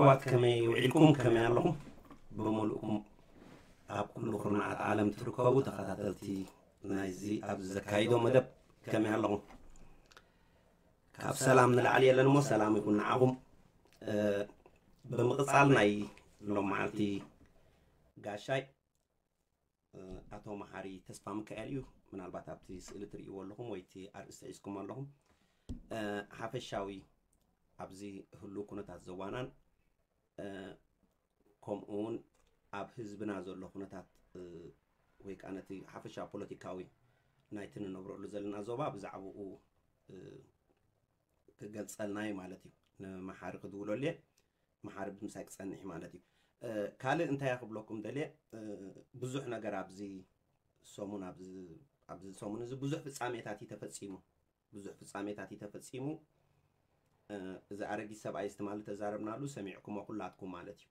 ሰባት ከመይ ውዒልኩም? ከመይ ኣለኹም? ብምሉእኩም ኣብ ኩሉ ኩርናዓት ዓለም ትርከቡ ተኸታተልቲ ናይዚ ኣብዚ ዘካይዶ መደብ ከመይ ኣለኹም? ካብ ሰላም ንላዕሊ የለን እሞ ሰላም ይኹን ንዓኹም። እ፣ ብምቕጻል ናይ ሎም መዓልቲ ጋሻይ እ፣ ኣቶ መሓሪ ተስፋ ሚካኤል እዩ። ምናልባት ኣብቲ ስእሊ ትርእይዎ ኣለኹም ወይ እቲ ኣርእስቲ ሒዝኩም ኣለኹም። እ፣ ሓፈሻዊ ኣብዚ ህሉ ኩነታት ዘዋናን እ፣ ከምኡ እውን ኣብ ህዝብና ዘሎ ኩነታት እ፣ ወይ ከዓ ነቲ ሓፈሻ ፖለቲካዊ ናይቲ ንነብረሉ ዘለና ዞባ ብዛዕባኡ እ፣ ክገልጸልና እዩ ማለት እዩ። ንመሓሪ ክድውለሉ እየ። መሓሪ ብምሳይ ክጸንሕ እዩ ማለት እዩ። እ፣ ካልእ እንታይ እየ ክብለኩም ደልየ፣ እ፣ ብዙሕ ነገር ኣብዚ ሰሙን ኣብዚ ኣብዚ ሰሙን እዚ ብዙሕ ፍጻሜታት እዩ ተፈጺሙ። ብዙሕ ፍጻሜታት እዩ ተፈጺሙ። እ፣ እዚ ኣረጊት ሰብኣይ እዚ ትማሊ ተዛረብናሉ ሰሚዕኩሞ ኩላትኩም ማለት እዩ።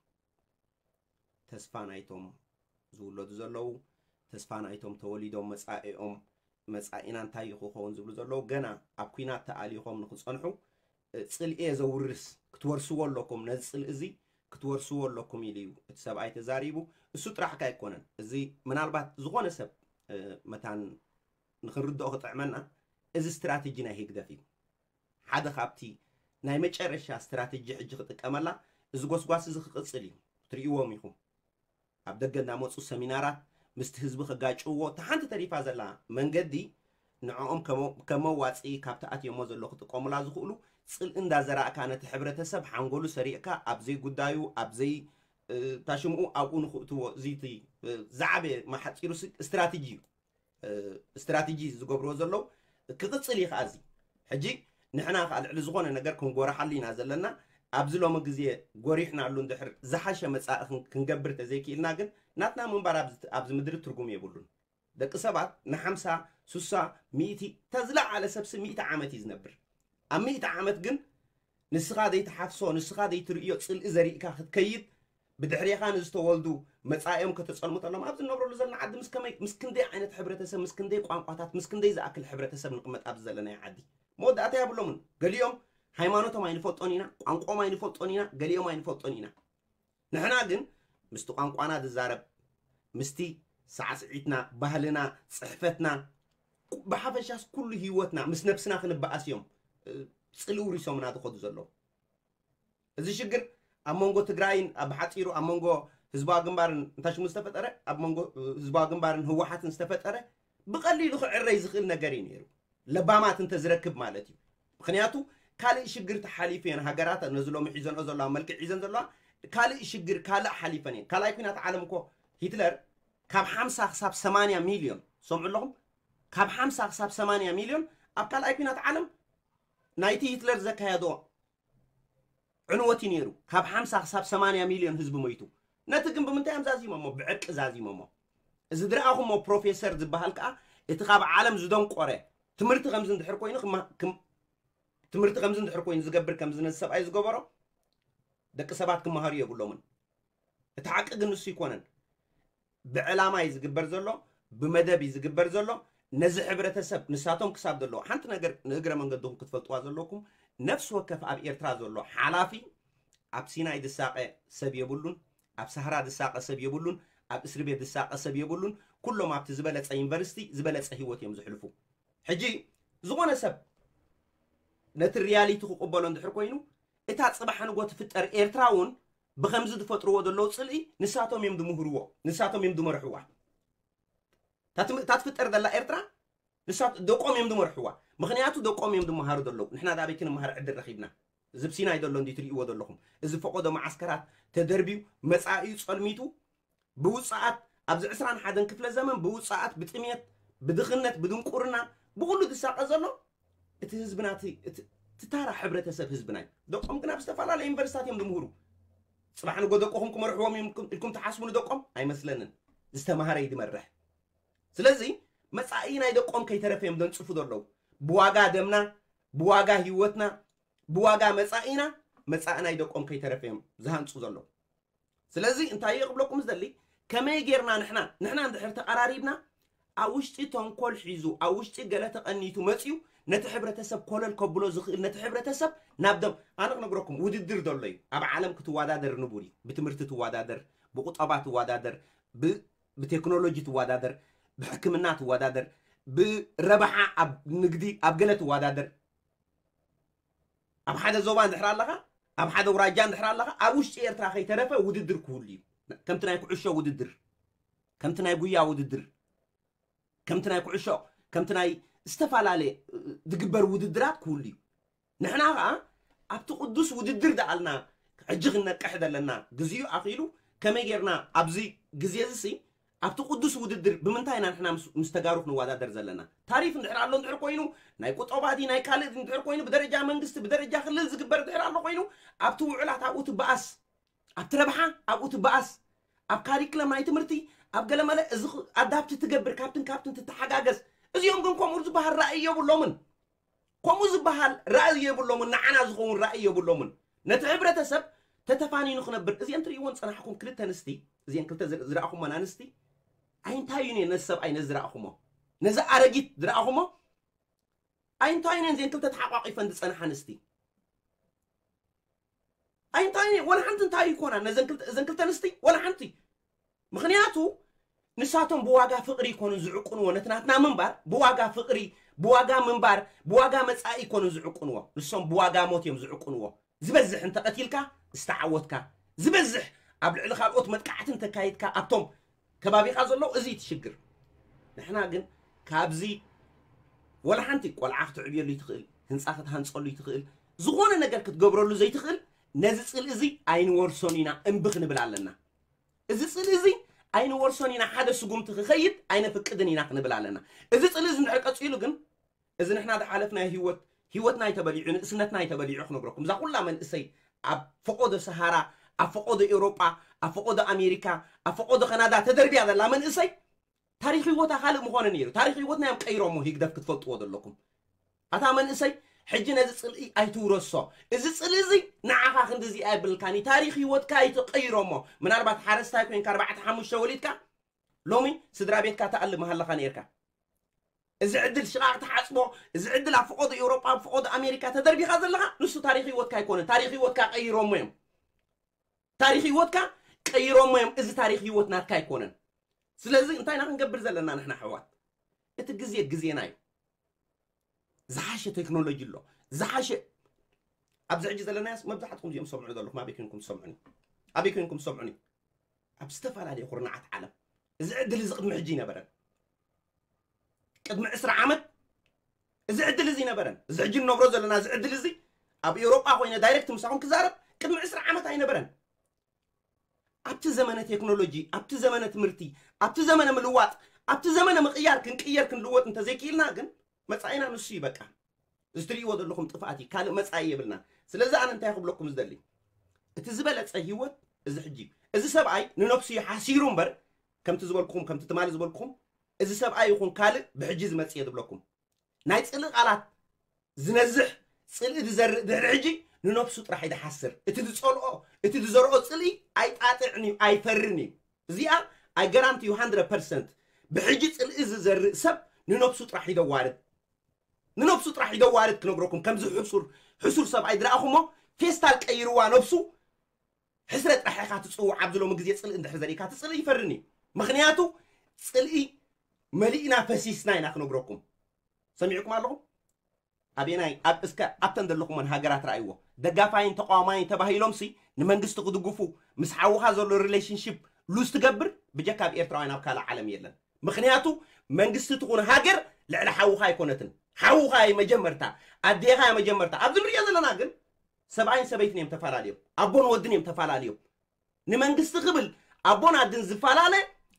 ተስፋ ናይቶም ዝውለዱ ዘለዉ፣ ተስፋ ናይቶም ተወሊዶም መጻኢኦም መጻኢና እንታይ እዩ ክኸውን ዝብሉ ዘለዉ፣ ገና ኣብ ኲናት ተኣሊኾም ንኽጸንሑ እ፣ ጽልኢ እየ ዘውርስ፣ ክትወርስዎ ኣለኩም፣ ነዚ ጽልኢ እዚ ክትወርስዎ ኣለኩም ኢሉ እዩ እቲ ሰብኣይ ተዛሪቡ። እሱ ጥራሕካ ኣይኮነን። እዚ ምናልባት ዝኾነ ሰብ እ፣ መታን ንኽንርድኦ ክጥዕመና፣ እዚ ስትራተጂ ናይ ህግደፍ እዩ። ሓደ ካብቲ ናይ መጨረሻ ስትራተጂ ሕጂ ክጥቀመላ እዚ ጎስጓስ እዚ ክቕጽል እዩ። ትርእይዎም ኢኹም። ኣብ ደገ እናመፁ ሰሚናራት ምስቲ ህዝቢ ከጋጭውዎ፣ እታ ሓንቲ ተሪፋ ዘላ መንገዲ ንዕኦም ከም መዋፂ ካብቲ ኣትዮሞ ዘሎ ክጥቀሙላ ዝኽእሉ ፅልኢ እንዳዘራእካ ነቲ ሕብረተሰብ ሓንጎሉ ሰሪቕካ ኣብ ዘይጉዳዩ ኣብ ዘይ ታሽምኡ ኣብኡ ንኽእትዎ እዚቲ ዝዓበየ ማሓፂሩ ስትራቴጂ እዩ። ስትራቴጂ ዝገብርዎ ዘለዉ ክቕፅል እዩ ከዓ እዚ ሕጂ ንሕና ከዓ ልዕሊ ዝኾነ ነገር ክንጎርሓሉ ኢና ዘለና። ኣብዚ ሎሚ ግዜ ጎሪሕናሉ እንድሕር ዝሓሸ መፃኢ ክንገብር ተዘይክኢልና ግን ናትና ምንባር ኣብዚ ምድሪ ትርጉም የብሉን። ደቂ ሰባት ንሓምሳ ሱሳ ሚእቲ ተዝለዓለ ሰብሲ ሚእቲ ዓመት እዩ ዝነብር። ኣብ ሚእቲ ዓመት ግን ንስኻ ዘይትሓፍሶ ንስኻ ዘይትርእዮ ፅልኢ ዘሪእካ ክትከይድ ብድሕሬኻ ንዝተወልዱ መፃኢኦም ከተፀልሙ ተሎም ኣብዚ ንነብረሉ ዘለና ዓዲ ምስ ከመይ ምስ ክንደይ ዓይነት ሕብረተሰብ ምስ ክንደይ ቋንቋታት ምስ ክንደይ ዝኣክል ሕብረተሰብ ንቕመጥ ኣብዚ ዘለናዮ ዓዲ መወዳእታ የብሎምን። ገሊኦም ሃይማኖቶም ኣይንፈልጦን ኢና፣ ቋንቋኦም ኣይንፈልጦን ኢና፣ ገሊኦም ኣይንፈልጦን ኢና። ንሕና ግን ምስቲ ቋንቋና ዝዛረብ ምስቲ ሳዕስዒትና፣ ባህልና፣ ፅሕፈትና፣ ብሓፈሻስ ኩሉ ህይወትና ምስ ነብስና ክንበኣስ እዮም ፅልኢ ውሪሶምና ዝኸዱ ዘለዉ። እዚ ሽግር ኣብ መንጎ ትግራይን ኣብ ሓፂሩ ኣብ መንጎ ህዝባዊ ግንባርን እንታይ ሽሙ ዝተፈጠረ ኣብ መንጎ ህዝባዊ ግንባርን ህወሓትን ዝተፈጠረ ብቐሊሉ ክዕረይ ዝኽእል ነገር እዩ ነይሩ። ለባማት እንተዝረክብ ማለት እዩ። ምክንያቱ ካልእ ሽግር ተሓሊፉ እየን ሃገራት ነዚ ሎሚ ሒዘንኦ ዘለዋ መልክዕ ሒዘን ዘለዋ ካልእ ሽግር ካልእ ሓሊፈን እየን። ካልኣይ ኩናት ዓለም እኮ ሂትለር ካብ ሓምሳ ክሳብ ሰማንያ ሚልዮን ሰምዑ ኣለኹም፣ ካብ ሓምሳ ክሳብ ሰማንያ ሚልዮን ኣብ ካልኣይ ኩናት ዓለም ናይቲ ሂትለር ዘካየዶ ዕንወት እዩ ነይሩ። ካብ ሓምሳ ክሳብ ሰማንያ ሚልዮን ህዝቢ ሞይቱ። ነቲ ግን ብምንታይ እዮም ዛዚሞሞ? ብዕርቂ ዛዚሞሞ። እዚ ዝረኣኹሞ ፕሮፌሰር ዝበሃል ከዓ እቲ ካብ ዓለም ዝደንቆረ ትምህርቲ ከምዚ እንድሕር ኮይኑ ትምህርቲ ከምዚ እንድሕር ኮይኑ ዝገብር ከምዚ ነዚ ሰብኣይ ዝገበሮ ደቂ ሰባት ክመሃሩ የብሎምን። እቲ ሓቂ ግን ንሱ ይኮነን። ብዕላማ እዩ ዝግበር ዘሎ፣ ብመደብ እዩ ዝግበር ዘሎ። ነዚ ሕብረተሰብ ንሳቶም ክሳብ ዘለዎ ሓንቲ ነገር ንእግረ መንገድኹም ክትፈልጥዋ ዘለኩም ነፍሲ ወከፍ ኣብ ኤርትራ ዘሎ ሓላፊ ኣብ ሲናይ ዝሳቐ ሰብ የብሉን፣ ኣብ ሳህራ ዝሳቐ ሰብ የብሉን፣ ኣብ እስሪ ቤት ዝሳቐ ሰብ የብሉን። ኩሎም ኣብቲ ዝበለፀ ዩኒቨርሲቲ ዝበለፀ ህይወት እዮም ዝሕልፉ። ሕጂ ዝኾነ ሰብ ነቲ ሪያሊቲ ክቕበሎ እንድሕር ኮይኑ እታ ፅባሕ ንጎ ትፍጠር ኤርትራ እውን ብኸምዚ ዝፈጥርዎ ዘለዉ ፅልኢ ንሳቶም እዮም ዝምህርዎ፣ ንሳቶም እዮም ዝመርሕዋ። እታ ትም- እታ ትፍጠር ዘላ ኤርትራ ንሳ ደቆም እዮም ዝመርሕዋ። ምክንያቱ ደቆም እዮም ዝመሃሩ ዘለዉ። ንሕና ዳበይ ክንመሃር ዕድል ረኺብና? እዚ ኣብ ሲናይ ዘሎ እንዲ ትርእይዎ ዘለኹም እዚ ፈቆዶ መዓስከራት ተደርብዩ መፃኢኡ ፀልሚቱ ብውፅኣት ኣብዚ ዕስራን ሓደን ክፍለ ዘመን ብውፅኣት ብጥሜት ብድኽነት ብድንቁርና ብኩሉ ዝሳቐ ዘሎ እቲ ህዝብና እቲ እቲ- እቲ ታራ ሕብረተሰብ ህዝብና እዩ። ደቆም ግን ኣብ ዝተፈላለዩ ዩኒቨርሲታት እዮም ዝምህሩ። ፅባሕ ንጎ ደቅኹም ክመርሕዎም እዮም ኢልኩም- ኢልኩም ትሓስቡ ንደቆም ኣይመስለንን። ዝተማሃረ እዩ ዝመርሕ። ስለዚ መፃኢ ናይ ደቆም ከይተረፈ እዮም ዘንፅፉ ዘለዉ። ብዋጋ ደምና፣ ብዋጋ ህይወትና፣ ብዋጋ መፃኢና መፃኢ ናይ ደቆም ከይተረፈ እዮም ዝሃንፁ ዘለዉ። ስለዚ እንታይ እየ ክብለኩም ዝደሊ፣ ከመይ ጌርና ንሕና ንሕና እንድሕር ተቐራሪብና ኣብ ውሽጢ ተንኮል ሒዙ ኣብ ውሽጢ ገለ ተቐኒቱ መፅዩ ነቲ ሕብረተሰብ ኮለል ከብሎ ዝኽእል፣ ነቲ ሕብረተሰብ ናብ ደም ኣነ ክነግረኩም፣ ውድድር ዘሎ እዩ። ኣብ ዓለም ክትወዳደር ንቡር እዩ። ብትምህርቲ ትወዳደር፣ ብቁጠባ ትወዳደር፣ ብ- ብቴክኖሎጂ ትወዳደር፣ ብሕክምና ትወዳደር፣ ብረብሓ ኣብ ንግዲ ኣብ ገለ ትወዳደር። ኣብ ሓደ ዞባ እንድሕር ኣለኻ፣ ኣብ ሓደ ውራጃ እንድሕር ኣለኻ፣ ኣብ ውሽጢ ኤርትራ ከይተረፈ ውድድር ክህሉ እዩ። ከምቲ ናይ ኩዕሾ ውድድር፣ ከምቲ ናይ ጉያ ውድድር፣ ከምቲ ናይ ኩዕሾ፣ ከምቲ ናይ ዝተፈላለየ ዝግበር ውድድራት ክህሉ እዩ። ንሕና ኸዓ ኣብቲ ቅዱስ ውድድር ደኣልና ሕጂ ክንነቅሕ ዘለና ግዜኡ ኣኺሉ፣ ከመይ ጌርና ኣብዚ ግዜ እዚ ሲ ኣብቲ ቅዱስ ውድድር ብምንታይ ኢና ንሕና ምስ- ምስ ተጋሩ ክንወዳደር ዘለና? ታሪፍ እንድሕር ኣሎ እንድሕር ኮይኑ፣ ናይ ቁጠባ ድዩ ናይ ካልእ ድዩ እንድሕር ኮይኑ፣ ብደረጃ መንግስቲ ብደረጃ ክልል ዝግበር እንድሕር ኣሎ ኮይኑ፣ ኣብቲ ውዕላት ኣብኡ ትበኣስ፣ ኣብቲ ረብሓ ኣብኡ ትበኣስ፣ ኣብ ካሪክለም ናይ ትምህርቲ ኣብ ገለመለ እዚ ኣዳፕት ትገብር፣ ካብትን ካብትን ትተሓጋገዝ። እዚኦም ግን ከምኡ ዝበሃል ራእይ የብሎምን። ከምኡ ዝበሃል ራእይ የብሎምን። ንዓና ዝኸውን ራእይ የብሎምን። ነቲ ሕብረተሰብ ተተፋኒኑ ክነብር፣ እዚአን ትርእይዎን ጸናሕኩም ክልተ ኣንስቲ፣ እዚአን ክልተ ዝር- ዝረኣኹመን ኣንስቲ፣ ኣይንታዩን እየን ነዚ ሰብኣይ ነዚ ዝረኣኹሞ፣ ነዚ ኣረጊት ዝረኣኹሞ ኣይንታዩን እየን። እዚአን ክልተ ተሓቋቂፈን ዝጸንሓ ኣንስቲ ኣይንታዩን እየን። ወላ ሓንቲ እንታይ ይኮና ነዘን ክልተ- እዘን ክልተ ኣንስቲ ወላ ሓንቲ። ምክንያቱ ንሳቶም ብዋጋ ፍቅሪ ይኮኑ ዝዕቁንዎ፣ ነቲ ናትና ምንባር ብዋጋ ፍቅሪ፣ ብዋጋ ምንባር፣ ብዋጋ መጻኢ ይኮኑ ዝዕቁንዎ። ንሶም ብዋጋ ሞት እዮም ዝዕቁንዎ። ዝበዝሕ እንተቀቲልካ ዝተዓወትካ፣ ዝበዝሕ ኣብ ልዕሊ ካልኦት መጥቃዕቲ እንተካይድካ ኣብቶም ከባቢኻ ዘለዉ፣ እዚ እዩ እቲ ሽግር። ንሕና ግን ካብዚ ወላ ሓንቲ ቆልዓ ክትዕብየሉ ይትኽእል፣ ህንፃ ክትሃንፀሉ ይትኽእል፣ ዝኾነ ነገር ክትገብረሉ ዘይትኽእል፣ ነዚ ፅልኢ እዚ ኣይንወርሶን ኢና እምቢ ክንብል ኣለና። እዚ ፅልኢ እዚ ኣይንወርሶን ኢና፣ ሓደ ስጉምቲ ክኸይድ ኣይነፍቅድን ኢና ክንብል ኣለና። እዚ ፅልኢ እዚ እንድሕር ቀፂሉ ግን፣ እዚ ንሕና ዝሓለፍናዮ ህይወት፣ ህይወትና እዩ ተበሊዑ፣ ንእስነትና እዩ ተበሊዑ ክነግረኩም። እዛ ኩላ መንእሰይ ኣብ ፈቆዶ ሰሃራ፣ ኣብ ፈቆዶ ኤውሮጳ፣ ኣብ ፈቆዶ ኣሜሪካ፣ ኣብ ፈቆዶ ካናዳ ተደርብያ ዘላ መንእሰይ ታሪኽ ህይወታ ካልእ ምኾነ ነይሩ። ታሪኽ ህይወትና እዮም ቀይሮሞ፣ ህግደፍ ክትፈልጥዎ ዘለኩም። ኣታ መንእሰይ፣ ሕጂ ነዚ ጽልኢ ኣይትውረሶ። እዚ ጽልኢ እዚ ንዓኻ ክንድዚ ኣይብልካን እዩ። ታሪኽ ህይወትካ ኣይትቀይሮሞ። ምናልባት ሓረስታይ ኮይንካ ኣርባዕተ ሓሙሽተ ወሊድካ፣ ሎሚ ስድራ ቤትካ ትኣልም ሃለኻ ነይርካ። እዚ ዕድል ሽቓቕ ትሓጽቦ፣ እዚ ዕድል ኣብ ፈቐዶ ኤውሮጳ፣ ኣብ ፈቐዶ ኣሜሪካ ተደርቢኻ ዘለኻ፣ ንሱ ታሪኽ ህይወትካ ኣይኮነን። ታሪኽ ህይወትካ ቀይሮሞ እዮም። ታሪኽ ህይወትካ ቀይሮሞ እዮም። እዚ ታሪኽ ህይወት ናትካ ኣይኮነን። ስለዚ እንታይ ኢና ክንገብር ዘለና ንሕና ኣሕዋት? እቲ ግዜ ግዜና እዩ። ዝሓሸ ቴክኖሎጂ ኣሎ። ዝሓሸ ኣብዚ ሕጂ ዘለናያስ መብዛሕትኩም እዚኦም ሰምዑ ዘለኹም ኣበይ ኮይንኩም ትሰምዑኒ? ኣበይ ኮይንኩም ትሰምዑኒ? ኣብ ዝተፈላለዩ ኩርናዓት ዓለም። እዚ ዕድል እዚ ቅድሚ ሕጂ ይነበረን። ቅድሚ ዕስራ ዓመት እዚ ዕድል እዚ ይነበረን። እዚ ሕጂ ንነብሮ ዘለና እዚ ዕድል እዚ ኣብ ኤውሮጳ ኮይነ ዳይሬክት ምሳኹም ክዛረብ ቅድሚ ዕስራ ዓመት ኣይነበረን። ኣብቲ ዘመነ ቴክኖሎጂ፣ ኣብቲ ዘመነ ትምህርቲ፣ ኣብቲ ዘመነ ምልዋጥ፣ ኣብቲ ዘመነ ምቕያር ክንቅየር ክንልወጥ እንተዘይክኢልና ግን መጻኢና ንሱ እዩ በቃ። እዚ ትርእይዎ ዘለኹም ጥፍኣት እዩ፣ ካልእ መጻኢ የብልናን። ስለዚ ኣነ እንታይ ክብለኩም ዝደሊ፣ እቲ ዝበለጸ ህይወት እዚ ሕጂ እዩ። እዚ ሰብኣይ ንነፍሱ እዩ ሓሲሩ እምበር፣ ከምቲ ዝበልኩኹም፣ ከምቲ ትማሊ ዝበልኩኹም፣ እዚ ሰብኣይ ይኹን ካልእ ብሕጂ ዝመጽእ እየ ዝብለኩም። ናይ ጽልኢ ቃላት ዝነዝሕ፣ ጽልኢ ዝዘርእ ድሕሪ ሕጂ ንነፍሱ ጥራሕ እዩ ዝሓስር። እቲ ዝጸልኦ፣ እቲ ዝዘርኦ ጽልኢ ኣይጣጥዕን እዩ፣ ኣይፈርን እዩ። እዚኣ I guarantee you hundred percent። ብሕጂ ጽልኢ ዝዘርእ ሰብ ንነፍሱ ጥራሕ እዩ ዘዋርድ። ንነፍሱ ጥራሕ እዩ ዘዋርድ ክነግረኩም። ከምዚ ሕሱር፣ ሕሱር ሰብኣይ ዝረኣኹሞ ፌስታል ቀይርዋ ነፍሱ ሕስረት ጥራሕ ኢኻ ትጽውዕ። ኣብዚ ሎሚ ግዜ ጽልኢ እንድሕር ዘርእካ፣ እቲ ጽልኢ ይፈርን እዩ። ምኽንያቱ ጽልኢ መሊእና ፈሲስና ኢና ክነግረኩም። ሰሚዕኩም ኣለኹም? ኣበየናይ? ኣብ እስከ ኣብተን ዘለኹመን ሃገራት ረኣይዎ። ደጋፋይን ተቃዋማይን ተባሂሎምሲ ንመንግስቲ ክድግፉ ምስ ሓውኻ ዘሎ ሪሌሽንሺፕ ሉዝ ትገብር ብጀካ ኣብ ኤርትራውያን ኣብ ካልእ ዓለም የለን። ምኽንያቱ መንግስቲ ትኹን ሃገር ልዕሊ ሓውኻ ኣይኮነትን። ሓውኻ እዩ መጀመርታ፣ ኣዴኻ እያ መጀመርታ። ኣብዚ ንሪኦ ዘለና ግን ሰብኣይን ሰበይትን እዮም ተፈላለዮም፣ ኣቦን ወድን እዮም ተፈላለዮም። ንመንግስቲ ክብል ኣቦን ኣድን ዝፈላለ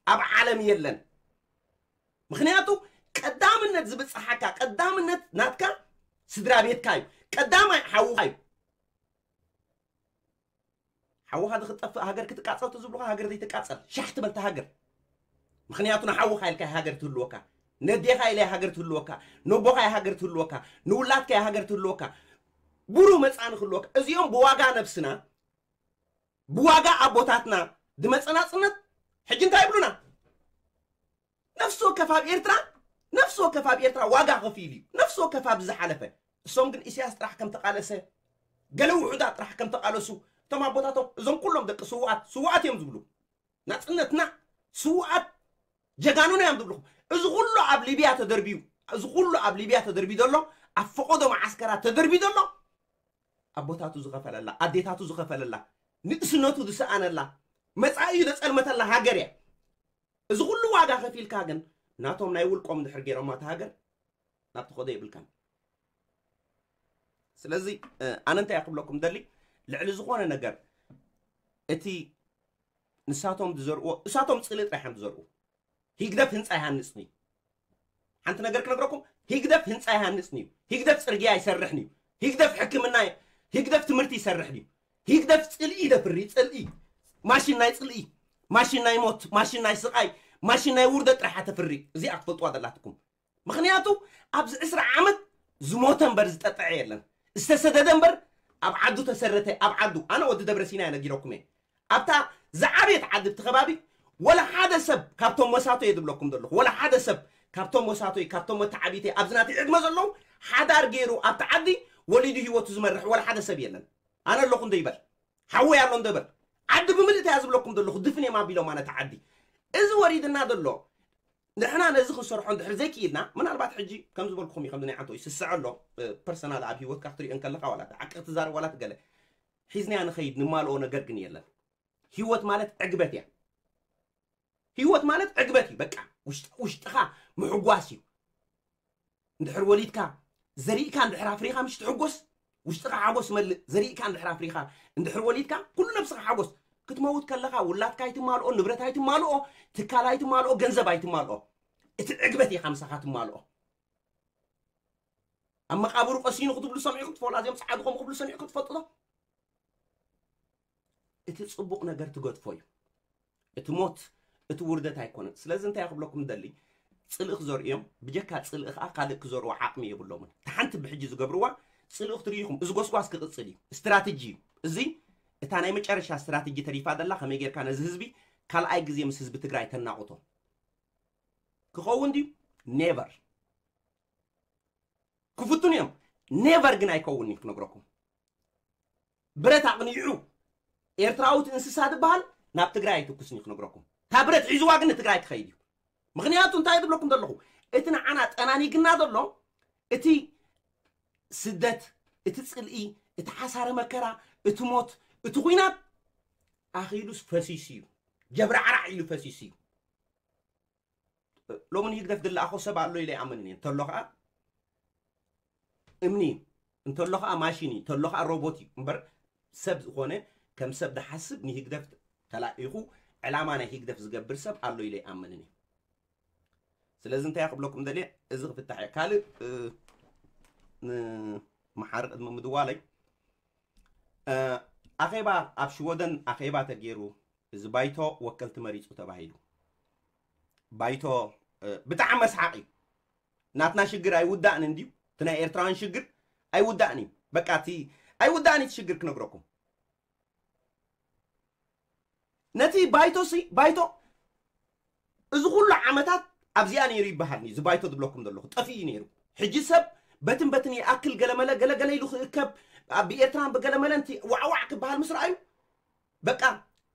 ኣብ ዓለም የለን። ምኽንያቱ ቀዳምነት ዝብጽሓካ፣ ቀዳምነት ናትካ ስድራ ቤትካ እዩ። ቀዳማይ ሓውኻ እዩ። ሓውኻ ዝክጠፍእ ሃገር ክትቃጸል ትዝብሉኻ፣ ሃገር ዘይትቃጸል ሻሕ ትበልታ ሃገር። ምኽንያቱ ንሓውኻ ኢልካ ሃገር ትህልወካ፣ ነዴኻ ኢለ ሃገር ትህልወካ፣ ነቦኻ ሃገር ትህልወካ፣ ንውላድካ ሃገር ትህልወካ፣ ብሩህ መጻኢ ክህልወካ። እዚኦም ብዋጋ ነብስና፣ ብዋጋ ኣቦታትና ዝመጸ ናጽነት ሕጂ እንታይ ይብሉና? ነፍሲ ወከፍ ኣብ ኤርትራ፣ ነፍሲ ወከፍ ኣብ ኤርትራ ዋጋ ከፊሉ እዩ። ነፍሲ ወከፍ ኣብዚ ዝሓለፈ። እሶም ግን ኢሳያስ ጥራሕ ከም ተቓለሰ፣ ገለ ውሑዳት ጥራሕ ከም ተቓለሱ፣ እቶም ኣቦታቶም፣ እዞም ኩሎም ደቂ ስውኣት፣ ስውኣት እዮም ዝብሉ። ናጽነትና ስውኣት ጀጋኑና እዮም ዝብልኹም። እዚ ኩሉ ኣብ ሊብያ ተደርብዩ፣ እዚ ኩሉ ኣብ ሊብያ ተደርብዩ ዘሎ፣ ኣብ ፈቐዶ መዓስከራት ተደርብዩ ዘሎ፣ ኣቦታቱ ዝኸፈለላ፣ ኣዴታቱ ዝኸፈለላ፣ ንእስነቱ ዝሰኣነላ፣ መጻኢኡ ዘጸልመተላ ሃገር እያ። እዚ ኩሉ ዋጋ ከፊልካ ግን ናቶም ናይ ውልቆም ድሕር ገይሮማ እታ ሃገር ናብ ትኸዶ የብልካን። ስለዚ ኣነ እንታይ ክብለኩም ደሊ፣ ልዕሊ ዝኾነ ነገር እቲ ንሳቶም ዝዘርዎ፣ እሳቶም ጽልኢ ጥራሕ እዮም ዝዘርኡ። ሂግደፍ ህንፃ ይሃንጽን እዩ። ሓንቲ ነገር ክነግረኩም፣ ሂግደፍ ህንፃ ይሃንጽን እዩ። ሂግደፍ ጽርግያ ይሰርሕን እዩ። ሂግደፍ ሕክምና፣ ሂግደፍ ትምህርቲ ይሰርሕን እዩ። ሂግደፍ ጽልኢ ይደፍሪ፣ ጽልኢ፣ ማሽን ናይ ጽልኢ፣ ማሽን ናይ ሞት፣ ማሽን ናይ ስቓይ፣ ማሽን ናይ ውርደት ጥራሕ ተፍሪ። እዚኣ ክትፈልጥዋ ዘላትኩም። ምኽንያቱ ኣብዚ ዕስራ ዓመት ዝሞተ እምበር ዝጠጥዐ የለን፣ ዝተሰደደ እምበር ኣብ ዓዱ ተሰረተ። ኣብ ዓዱ፣ ኣነ ወዲ ደብረ ሲና ነጊረኩም እየ። ኣብታ ዝዓበየት ዓዲ እቲ ከባቢ ወላ ሓደ ሰብ ካብቶም መሳቶ እየ ዝብለኩም ዘለኹ፣ ወላ ሓደ ሰብ ካብቶም መሳቶይ፣ ካብቶም መተዓቢተይ ኣብዚ ናተይ ዕድመ ዘለዉ ሓዳር ገይሩ ኣብቲ ዓዲ ወሊዱ ህይወቱ ዝመርሕ ወላ ሓደ ሰብ የለን። ኣነ ኣለኹ እንዶ ይበል፣ ሓወይ ኣሎ እንዶ ይበል። ዓዲ ብምልእታ እያ ዝብለኩም ዘለኹ፣ ድፍን እዮም ኣቢሎም ኣነ እቲ ዓዲ። እዚ ወሪድና ዘሎ ንሕና ነዚ ክንሰርሖ እንድሕር ዘይክኢልና፣ ምናልባት ሕጂ ከም ዝበልኩኹም እዩ፣ ከምዚ ናይ ዓንቶ ይስስዐ ኣሎ። ፐርሰናል ኣብ ህይወትካ ክትሪኦ እንከለኻ ዋላ ዓቂ ክትዛረብ ዋላ ትገለ ሒዝናያ ንኸይድ ንማልኦ ነገር ግን የለን። ህይወት ማለት ዕግበት እያ። ህይወት ማለት ዕግበት እዩ። በቃ ውሽጥ-፣ ውሽጥኻ ምሕጓስ እዩ። እንድሕር ወሊድካ ዘሪእካ እንድሕር ኣፍሪኻ ምሽ ትሕጎስ፣ ውሽጥኻ ሓጎስ መልእ። ዘሪእካ እንድሕር ኣፍሪኻ እንድሕር ወሊድካ ኩሉ ነብስኻ ሓጎስ። ክትመውት ከለኻ ውላድካ ኣይትማልኦ፣ ንብረት ኣይትማልኦ፣ ትካል ኣይትማልኦ፣ ገንዘብ ኣይትማልኦ። እቲ ዕግበት ኢኻ ምሳኻ ትማልኦ። ኣብ መቃብሩ ቀሲኑ ክትብሉ ሰሚዕኩም ትፈልጡ? ኣዚኦም ጸዓዱ ከምኡ ክብሉ ሰሚዕኩም ትፈልጡ ዶ? እቲ ጽቡቕ ነገር ትገድፎ እዩ። እቲ ሞት፣ እቲ ውርደት ኣይኮነን። ስለዚ እንታይ ክብለኩም ደሊ፣ ጽልኢ ክዘርኡ እዮም። ብጀካ ጽልኢ ከኣ ካልእ ክዘርኡ ዓቕሚ የብሎምን። እታ ሓንቲ ብሕጂ ዝገብርዋ ጽልኢ ክትርእዩ ኢኹም። እዚ ጎስጓስ ክቕጽል እዩ። ስትራተጂ እዩ። እዚ እታ ናይ መጨረሻ ስትራተጂ ተሪፋ ደላ፣ ከመይ ጌርካ ነዚ ህዝቢ ካልኣይ ግዜ ምስ ህዝቢ ትግራይ ተናቑቶ። ክኸውን ድዩ? ኔቨር። ክፍትኑ እዮም። ኔቨር ግን ኣይከውን እዩ ክነግረኩም። ብረት ኣቕኒዑ ኤርትራዊት እንስሳ ዝበሃል ናብ ትግራይ ኣይትኩስን እዩ ክነግረኩም። እታ ብረት ሒዝዋ ግን ንትግራይ ክኸይድ እዩ። ምኽንያቱ እንታይ ዝብለኩም ዘለኹ፣ እቲ ንዓና ጠናኒግና ዘሎ፣ እቲ ስደት፣ እቲ ጽልኢ፣ እቲ ሓሳረ መከራ፣ እቲ ሞት፣ እቲ ኹናት ኣኺሉስ ፈሲሱ እዩ። ጀብራዕራዕ ኢሉ ፈሲሱ እዩ። ሎሚ ንህግደፍ ዝለኣኾ ሰብ ኣሎ ኢለ ይኣምን እየ። እንተሎ ኸኣ እምኒ እዩ፣ እንተሎ ኸኣ ማሽን እዩ፣ እንተሎ ኸኣ ሮቦት እዩ እምበር፣ ሰብ ዝኾነ፣ ከም ሰብ ዝሓስብ፣ ንህግደፍ ተላኢኹ ዕላማ ናይ ህግደፍ ዝገብር ሰብ ኣሎ ኢለ ይኣምንን እየ። ስለዚ እንታይ ክብለኩም ደልየ፣ እዚ ክፍታሕ እየ። ካልእ፣ እ፣ ንመሓሪ ቅድሚ ምድዋለይ፣ እ፣ ኣኼባ ኣብ ሽወደን ኣኼባ ተገይሩ፣ እዚ ባይቶ ወከልቲ መሪጹ ተባሂሉ። ባይቶ፣ እ፣ ብጣዕሚ መስሓቕ እዩ። ናትና ሽግር ኣይውዳእንን ድዩ? እቲ ናይ ኤርትራውያን ሽግር ኣይውዳእን እዩ። በቃ እቲ ኣይውዳእን እዩ እቲ ሽግር ክነግረኩም። ነቲ ባይቶ ሲ፣ ባይቶ እዚ ኩሉ ዓመታት ኣብዚኣ ነይሩ ይበሃል እዩ። እዚ ባይቶ ዝብለኩም ዘለኹ ጠፊኡ እዩ ነይሩ። ሕጂ ሰብ በትን በትን ይኣክል ገለመለ ገለገለ ኢሉ ክእከብ፣ ኣብ ኤርትራን ብገለመለን እቲ ዋዕዋዕ ክበሃል ምስ ረኣዩ፣ በቃ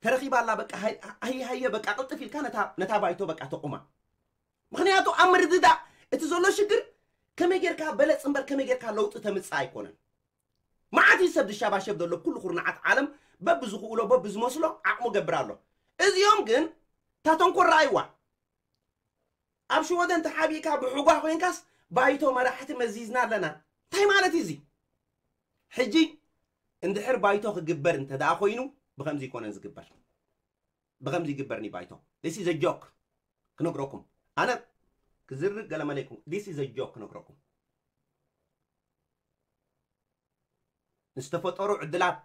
ተረኺባ ኣላ፣ በቃ ሃይ-፣ ሃየ ሃየ፣ በቃ ቅልጥፍ ኢልካ ነታ፣ ነታ ባይቶ በቃ ተቑማ። ምኽንያቱ ኣብ ምርድዳእ እቲ ዘሎ ሽግር ከመይ ጌርካ በለጽ እምበር ከመይ ጌርካ ለውጢ ተምጽእ ኣይኮነን። መዓት እዩ ሰብ ዝሸባሸብ ዘሎ፣ ኩሉ ኩርናዓት ዓለም በብዝኽእሎ በብዝመስሎ ዓቕሙ ገብር ኣሎ። እዚኦም ግን እታ ተንኮል ረኣይዋ። ኣብ ሽወደን ተሓቢእካ ብሕጓ ኮይንካስ ባይቶ መራሕቲ መዚዝና ኣለና። እንታይ ማለት እዩ እዚ? ሕጂ እንድሕር ባይቶ ክግበር እንተ ደኣ ኮይኑ ብኸምዚ ይኮነን ዝግበር። ብኸምዚ ይግበርኒ ባይቶ። This is a joke ክነግረኩም። ኣነ ክዝርግ ገለመለ ይኩን። This is a joke ክነግረኩም። ዝተፈጠሩ ዕድላት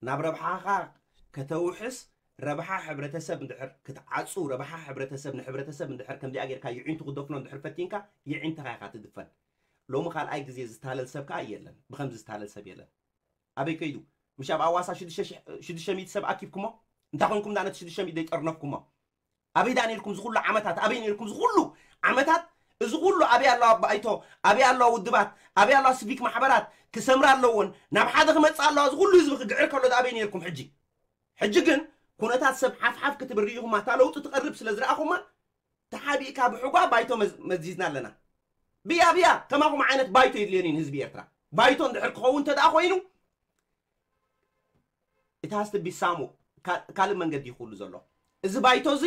ናብ ረብሓኻ ከተውሕስ፣ ረብሓ ሕብረተሰብ እንድሕር ክትዓጹ፣ ረብሓ ሕብረተሰብ ንሕብረተሰብ እንድሕር ከምዚኣ ጌርካ ይዒንቱ ክደፍኖ እንድሕር ፈቲንካ፣ ይዒንትኻ ኢኻ ትድፈን። ሎሚ ካልኣይ ግዜ ዝታለል ሰብ ከኣ የለን። ብኸምዚ ዝታለል ሰብ የለን። ኣበይ ከይዱ? ምሽ ኣብ ኣዋሳ ሽዱሽተ ሺሕ፣ ሽዱሽተ ሚእቲ ሰብ ኣኪብኩሞ? እንታይ ኮንኩም ደኣ ነቲ ሽዱሽተ ሚእቲ ዘይጠርነፍኩሞ? ኣበይ ደኣ ነይርኩም ዝኹሉ ዓመታት? ኣበይ ነይርኩም ዝኹሉ ዓመታት? እዚ ኩሉ ኣበይ ኣለዋ ባይቶ፣ ኣበይ ኣለዋ ውድባት፣ ኣበይ ኣለዋ ሲቪክ ማሕበራት? ክሰምራ ኣለዎን ናብ ሓደ ክመጽእ ኣለዋ። እዚ ኩሉ ህዝቢ ክግዕር ከሎ ኣበይ ነርኩም? ሕጂ ሕጂ ግን ኩነታት ሰብ ሓፍሓፍ ክትብል ርኢኹማ፣ እታ ለውጢ ትቐርብ ስለ ዝረኣኹማ ተሓቢእካ ብሕጓ ባይቶ መዝ- መዚዝና ኣለና። ብያ ብያ ከማኹም ዓይነት ባይቶ የድልየን ህዝቢ ኤርትራ። ባይቶ እንድሕር ክኸውን እንተ ደኣ ኮይኑ፣ it has to be some ካልእ መንገዲ ይኽእሉ ዘሎ። እዚ ባይቶ እዚ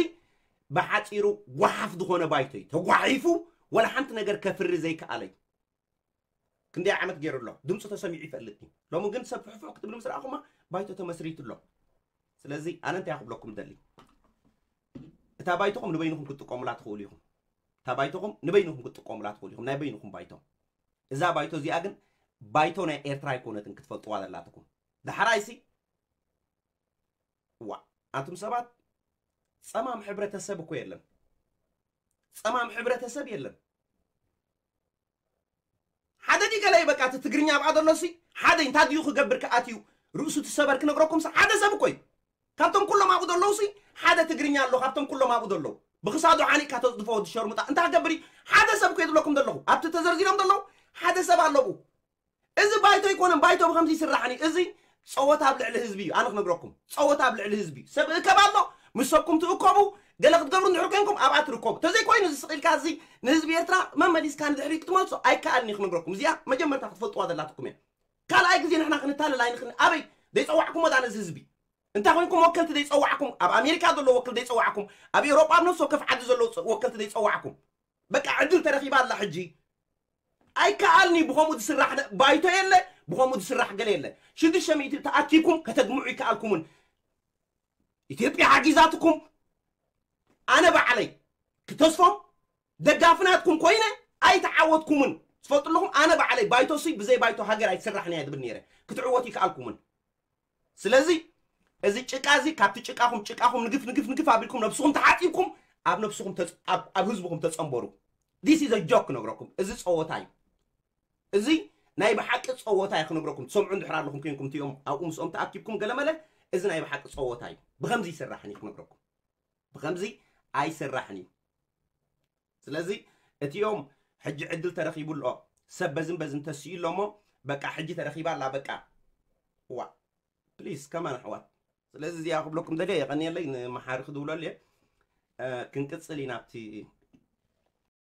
ብሓፂሩ ጓሓፍ ዝኾነ ባይቶ እዩ። ተጓሒፉ ወላ ሓንቲ ነገር ከፍሪ ዘይከኣለ እዩ። ክንደይ ዓመት ገይሩ ኣሎ? ድምፁ ተሰሚዑ ይፈልጥ እዩ። ሎሚ ግን ሰብ ፍሕፍሕ ክትብል ምስ ረኣኹማ ባይቶ ተመስሪቱ ኣሎ። ስለዚ ኣነ እንታይ ክብለኩም ደሊ፣ እታ ባይቶኹም ንበይንኹም ክትጥቀሙላ ትኽእሉ ኢኹም። እታ ባይቶኹም ንበይንኹም ክትጥቀሙላ ትኽእሉ ኢኹም፣ ናይ በይንኹም ባይቶ። እዛ ባይቶ እዚኣ ግን ባይቶ ናይ ኤርትራ ኣይኮነትን፣ ክትፈልጥዋ ዘላትኩም። ዳሕራይሲ ዋ ኣቱም ሰባት፣ ጸማም ሕብረተሰብ እኮ የለን። ጸማም ሕብረተሰብ የለን። ሓደ ዲ ገለ በቃ እቲ ትግርኛ ኣብኣ ዘሎ ሲ ሓደ እንታይ ድዩ ክገብር ከኣትዩ ርእሱ ትሰበር ክነግረኩም ሲ ሓደ ሰብ እኮ እዩ። ካብቶም ኩሎም ኣብኡ ዘለዉ ሲ ሓደ ትግርኛ ኣሎ። ካብቶም ኩሎም ኣብኡ ዘለዉ ብክሳዱ ሓኒቕካ ተጽድፎ ወዲ ሸርሙጣ እንታይ ክገብር እዩ? ሓደ ሰብ እኮ እየ ዝብለኩም ዘለኹ። ኣብቲ ተዘርዚሮም ዘለዉ ሓደ ሰብ ኣለዉ። እዚ ባይቶ ኣይኮነን። ባይቶ ብከምዚ ይስራሕን እዩ። እዚ ጸወታ ኣብ ልዕሊ ህዝቢ እዩ። ኣነ ክነግረኩም፣ ጸወታ ኣብ ልዕሊ ህዝቢ እዩ። ሰብ እከብ ኣሎ፣ ምስ ሰብኩም ትእከቡ፣ ገለ ክትገብሩ እንድሕር ኮንኩም ኣብኣ ትርከቡ። ተዘይኮይኑ እዚ ስቕ ኢልካ እዚ ንህዝቢ ኤርትራ መመሊስካ ንድሕሪ ክትመልሶ ኣይከኣልን እዩ ክነግረኩም። እዚኣ መጀመርታ ክትፈልጥዋ ዘላትኩም እያ። ካልኣይ ግዜ ንሕና ክንታለል ኣይንኽን። ኣበይ ዘይጸዋዕኩሞ ዳ ነዚ ህዝቢ? እንታይ ኮንኩም ወከልቲ ዘይጸዋዕኩም? ኣብ ኣሜሪካ ዘሎ ወክል ዘይጸዋዕኩም? ኣብ ኤውሮጳ ኣብ ነፍሲ ወከፍ ዓዲ ዘሎ ወከልቲ ዘይጸዋዕኩም? በቃ ዕድል ተረኺባ ኣላ ሕጂ። ኣይከኣልኒ ብኸምኡ ዝስራሕ ነ- ባይቶ የለ፣ ብኸምኡ ዝስራሕ ገለ የለ። ሽዱሽተ ሚእቲ ተኣኪብኩም ከተግምዑ ይከኣልኩምን። ኢትዮጵያ ሓጊዛትኩም። ኣነ ባዕለይ ክተስፎም ደጋፍናትኩም ኮይነ ኣይተዓወትኩምን። ትፈልጡ ኣለኹም፣ ኣነ ባዕለይ ባይቶ ሲ ብዘይ ባይቶ ሃገር ኣይትስራሕን እያ ዝብል ነይረ። ክትዕወት ይከኣልኩምን። ስለዚ እዚ ጭቃ እዚ ካብቲ ጭቃኹም ጭቃኹም ንግፍ ንግፍ ንግፍ ኣቢልኩም ነብስኹም ተሓጢብኩም ኣብ ነብስኹም ተጽ- ኣብ- ኣብ ህዝብኹም ተጸንበሩ። This is a joke ክነግረኩም። እዚ ጸወታ እዩ። እዚ ናይ ብሓቂ ጸወታ እዩ ክነግረኩም። ትሰምዑ እንድሕር ኣለኹም ኮንኩም እቲኦም ኣብኡ ምስኦም ተኣኪብኩም ገለመለ፣ እዚ ናይ ብሓቂ ጸወታ እዩ። ብኸምዚ ይስራሕን እዩ ክነግረኩም። ብኸምዚ ኣይስራሕን እዩ። ስለዚ እቲኦም ሕጂ ዕድል ተረኺቡ ኣሎ፣ ሰብ በዝን በዝን ተስኡ ኣሎ እሞ በቃ ሕጂ ተረኺባ ኣላ በቃ። ዋ ፕሊስ ከማን ኣሕዋት። ስለዚ እዚኣ ክብለኩም ደልየ የቐንየለይ፣ ንመሓሪ ክድውለሉ እየ። እ፣ ክንቅጽል ኢና ኣብቲ